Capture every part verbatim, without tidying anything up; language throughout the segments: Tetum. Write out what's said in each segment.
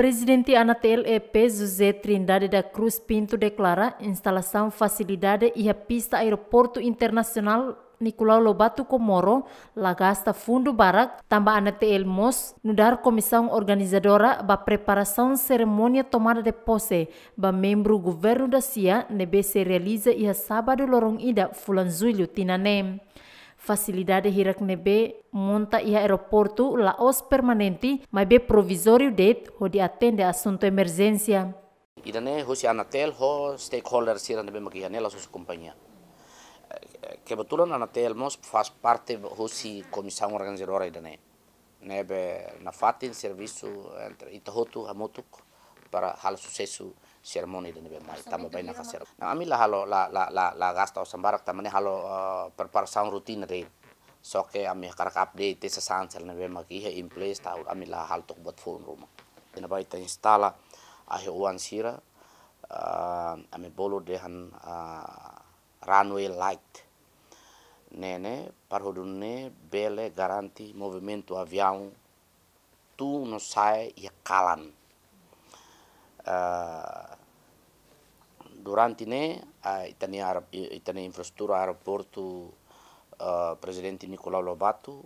Prezidente ANATL-EP José Trindade da Cruz Pinto deklara instalasaun fasilidade iha pista Aeroportu Internasionál Nicolau Lobato Comoro la gasta fundu barak, tanba ANATL mós nu'udar komisaun organizadora ba preparasaun serimónia tomada de pose ba membru governu dasia ne'ebé sei realiza iha sábadu loron ida fulan Jullu tinan ne'e. Fasilidade hirak ne'ebé monta iha aeroportu la'ós permanente, maibé provizóriu de'it hodi atende asuntu emerjénsia. Ida-ne'e husi ANATL ho stakeholder sira ne'ebé mak iha ne'e, la'ós husi kompañia. Eh, kebetulan ANATL mós faz parte husi komisaun organizadora ida-ne'e. Ne'ebé nafatin servisu entre ita hotu hamutuk para halo susesu serimónia ida ne'ebé mai, tanba bainaka sira. Nah, ami la halo, la, la, la, la gasta osan barak, tanba ne'e halo, eh, preparasaun rutina de'it. Só ke ami hakarak update sasán sira ne'ebé mak iha in place, tanba ami la halo to'o buat foun ruma. Iha ne'ebá ita instala ahi-oan sira, eh, ami bolu dehan, eh, runway light. Ne'e ne'e, para hodi nune'e bele garante movimentu aviaun tun no sa'e iha kalan. Eh, durante ne'e, ah, ita-nia aer-, ita-nia infraestrutura aeroportu, eh, Prezidente Nicolau Lobato,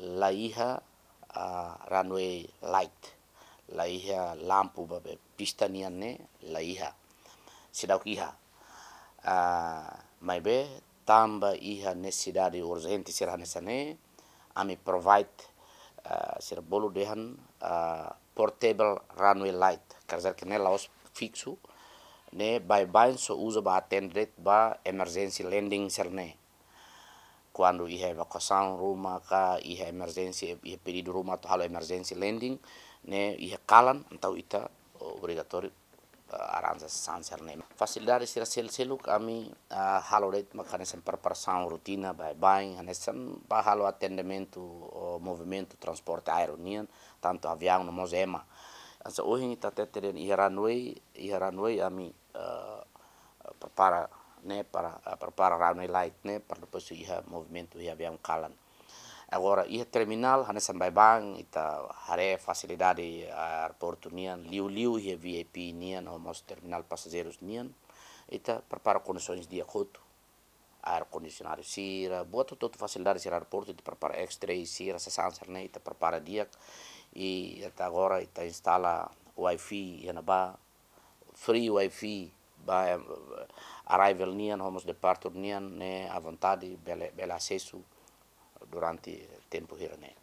la iha, ah, runway light, la iha lampu ba be pista nian ne'e, la iha. Seidauk iha. Ah, maibé tanba iha nesesidade urjente sira hanesan ne'e, ami provide, ah, sira bolu dehan, ah, portable runway light. Quer dizer que ne'e la'ós fiksu, ne'e baibain só uza ba atende ba emergency landing sira-ne'e. Kuandu iha evakuasaun ruma ka iha emergency, iha pedidu ruma atu halo emergency landing, ne'e iha kalan, entaun ita, oh, obrigatóriu, ah, arranja sasán sira-ne'e. Fasilidade sira sel-, seluk ami, ah, halo de'it mak hanesan preparasaun rutina baibain, hanesan ba halo atendimentu, oh, movimentu transporte aéreu nian, tantu aviaun no mós ema. Hanesan ohin ita hatete dehan iha runway, iha runway ami, eh, prepara ne'e para, eh, prepara runway light ne'e para depois iha movimentu iha aviaun kalan. Agora, iha terminál, hanesan baibain, ita haree fasilidade aeroportu nian, liuliu iha V I P nian, ho mós terminál pasajeirus nian, ita prepara kondisoens di'ak hotu. Ar-kondisionadu sira, buat hotu-hotu fasilidade sira aeroportu, ita prepara X-ray sira, sasán sira-ne'e, ita prepara di'ak, i até agora, ita instala Wi-Fi iha ne'ebá, free Wi-Fi ba, eh, arrival nian, ho mós departure nian, ne'e à vontade, bele, bele asesu durante tempu hira-ne'e.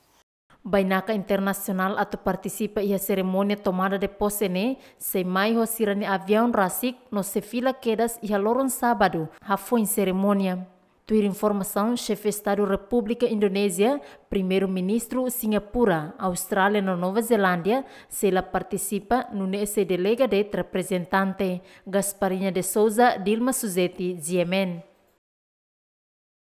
Bainaka internasionál atu partisipa iha serimónia tomada de pose ne'e, sei mai ho sira-nia aviaun rasik no sei fila kedas iha loron sábadu, hafoin serimónia. Tuir informasaun Xefe Estadu Repúblika Indonézia, Primeiru-Ministru Singapura, Austrália no Nova Zelándia, sei la partisipa, nune'e sei delega de'it reprezentante, Gasparinha de Souza, Dilma Suzeti, G M N.